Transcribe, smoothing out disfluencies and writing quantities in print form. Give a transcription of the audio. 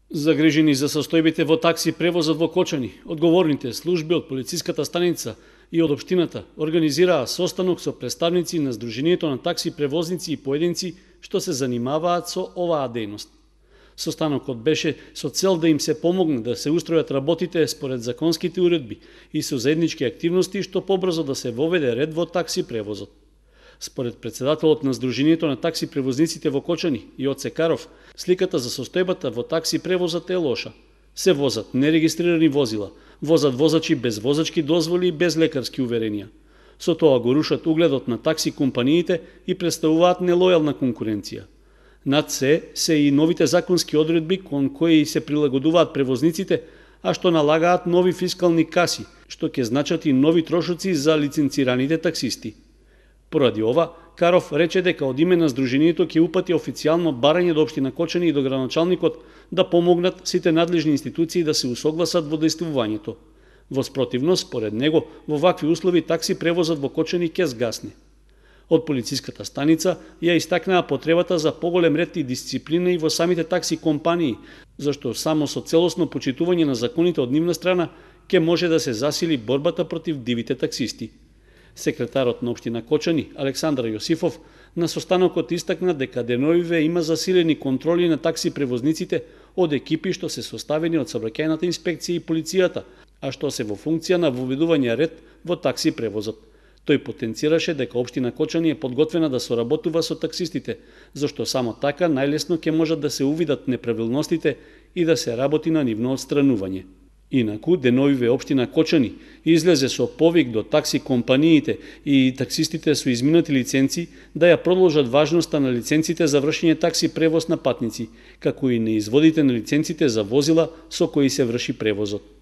Загрижени за состојбите во такси превозот во Кочани, одговорните служби од полициската станица и од општината организираа состанок со представници на Сдруженијето на такси превозници и поединци што се занимаваат со оваа дејност. Состанокот беше со цел да им се помогне да се устројат работите според законските уредби и со заеднички активности што побрзо да се воведе ред во такси превозот. Според председателот на Сдруженијето на такси превозниците во Кочани, Јоце Каров, сликата за состојбата во такси превозот е лоша. Се возат нерегистрирани возила, возат возачи без возачки дозволи и без лекарски уверенија. Со тоа го рушат угледот на такси компаниите и представуваат нелојална конкуренција. Над се и новите законски одредби кон кои се прилагодуваат превозниците, а што налагаат нови фискални каси, што ќе значат и нови трошоци за лиценцираните таксисти. Поради ова, Каров рече дека од име на Сдруженијето ќе упати официјално барање до општина Кочани и до градоначалникот да помогнат сите надлежни институции да се усогласат во действувањето. Во спротивност, според него, во вакви услови такси превозот во Кочани ќе згасне. Од полициската станица ја истакнаа потребата за поголем ред и дисциплина и во самите такси компании, зашто само со целосно почитување на законите од нивна страна ќе може да се засили борбата против дивите таксисти. Секретарот на општина Кочани, Александар Јосифов, на состанокот истакна дека деновиве има засилени контроли на такси превозниците од екипи што се составени од Сообраќајната инспекција и полицијата, а што се во функција на воведување ред во такси превозот. Тој потенцираше дека општина Кочани е подготвена да соработува со таксистите, зашто само така најлесно ќе можат да се увидат неправилностите и да се работи на нивно отстранување. Инаку, деновиве општина Кочани излезе со повик до такси компаниите и таксистите со изминати лиценци да ја продолжат важноста на лиценците за вршење такси превоз на патници, како и неизводите на лиценците за возила со кои се врши превозот.